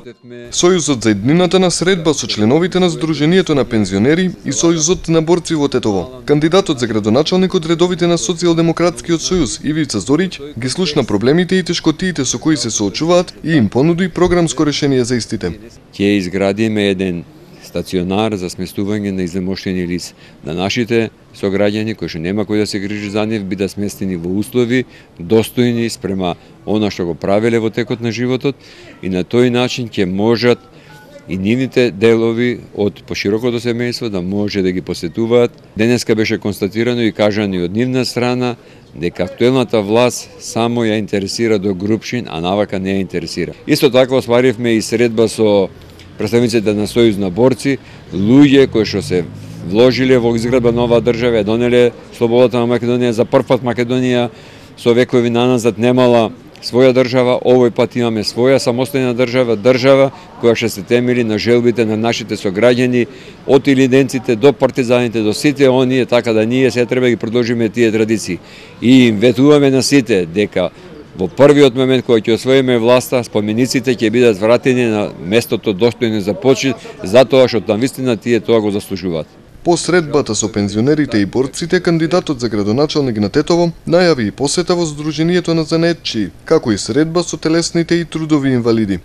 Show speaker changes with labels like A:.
A: Сојузот за еднината на средба со членовите на Сдруженијето на пензионери и Сојузот на борци во Тетово. Кандидатот за градоначалник од редовите на Социјалдемократскиот сојуз Ивица Зориќ ги слушна проблемите и тешкотиите со кои се соочуваат и им понуди програмско решение за истите.
B: Ќе изградиме еден стационар за сместување на изнемоштени лица. На нашите сограѓани кои што нема кој да се грижи за нив бидат сместени во услови достојни спрема она што го правеле во текот на животот и на тој начин ќе можат и нивните делови од поширокото семејство да може да ги посетуваат. Денеска беше констатирано и кажано и од нивна страна дека актуелната власт само ја интересира до Групшин, а навака не ја интересира. Исто така остваривме и средба со представниците на Сојуз на борци, луѓе кои што се вложиле во изградба нова држава, донеле слободата на Македонија. За прв пат Македонија со векови наназад немала своја држава, овој пат имаме своја самостојна држава, држава која ќе се темели на желбите на нашите сограѓани, од илиденците до партизаните, до сите оние, така да ние се треба да ги продолжиме тие традиции. И им ветуваме на сите дека во првиот момент кога ќе освоиме власта, спомениците ќе бидат вратени на местото достојно за почит, затоа што навистина тие тоа го заслужуваат.
A: По средбата со пензионерите и борците, кандидатот за градоначалник на Тетово најави и посета во Сдруженијето на занаетчии, како и средба со телесните и трудови инвалиди.